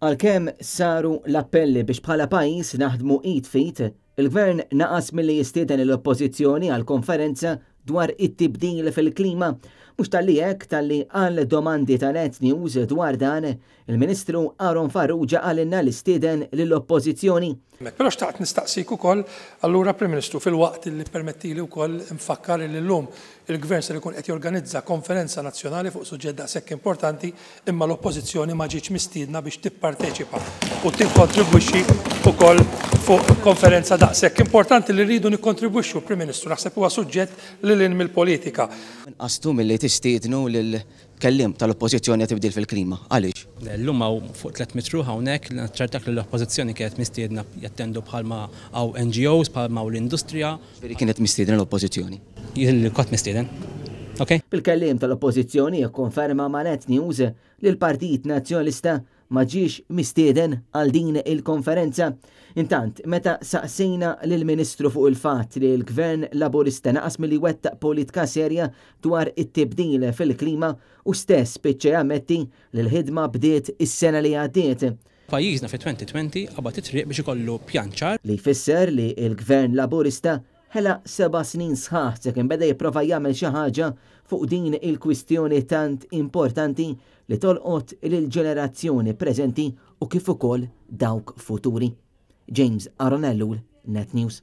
Għalkemm saru l-appelli biex bħala pajjiż naħdmu id f'id, il-Gvern naqas milli jistieden lill-Oppożizzjoni għal konferenza dwar it-tibdil fil-klima. Mhux talli hekk, talli għal domandi ta' Net News dwar dan, il-Ministru Aaron Farrugia qalilna li stieden lill-Oppożizzjoni. Però xtaqt nistaqsik ukoll, allura Prim Ministru, filwaqt li ppermettili wkoll nfakkar li llum il-Gvern ser ikun qed jorganizza konferenza nazzjonali fuq suġġett daqshekk importanti imma l-Oppożizzjoni ma ġietx mistiedna biex tipparteċipa u tikkontribwixxi wkoll fuq konferenza daqshekk importanti li rridu nikkontribwixxu, Prim Ministru, naħseb huwa suġġett lil hinn mill-politika. Nqastu milli tistiednu lil Kelliem tal-Oppożizzjoni għat-tibdil fil-klima. Għaliex? Le, llum hawn fuq 300 ruħ hawnhekk, naċċertak li l-Oppożizzjoni kienet mistiedna jattendu bħalma hawn NGOs, bħalma hawn l-industrija. Ġifieri kienet mistiedna l-Oppożizzjoni? Jien li kont mistieden. Ok? Il-kelliem tal-Oppożizzjoni kkonferma ma' Net News li l-Partit Nazzjonalista ma ġiex mistieden għal din il-konferenza. Intant, meta saqsejna lill-Ministru fuq il-fatt li l-Gvern Laburista naqas milli jwettaq politka serja dwar it-tibdil fil-klima, hu stess spiċċa jammetti li l-ħidma bdiet is-sena li għaddiet. Pajjiżna fi-2020 qabad it-triq biex ikollu pjan ċar. Li jfisser li l-Gvern Laburista Ħela seba' snin sħaħ sakemm beda jipprova jagħmel xi ħaġa fuq din il-kwistjoni tant importanti li tolqot lill-ġenerazzjoni preżenti u kif ukoll dawk futuri. James Aaron Ellul, Net News.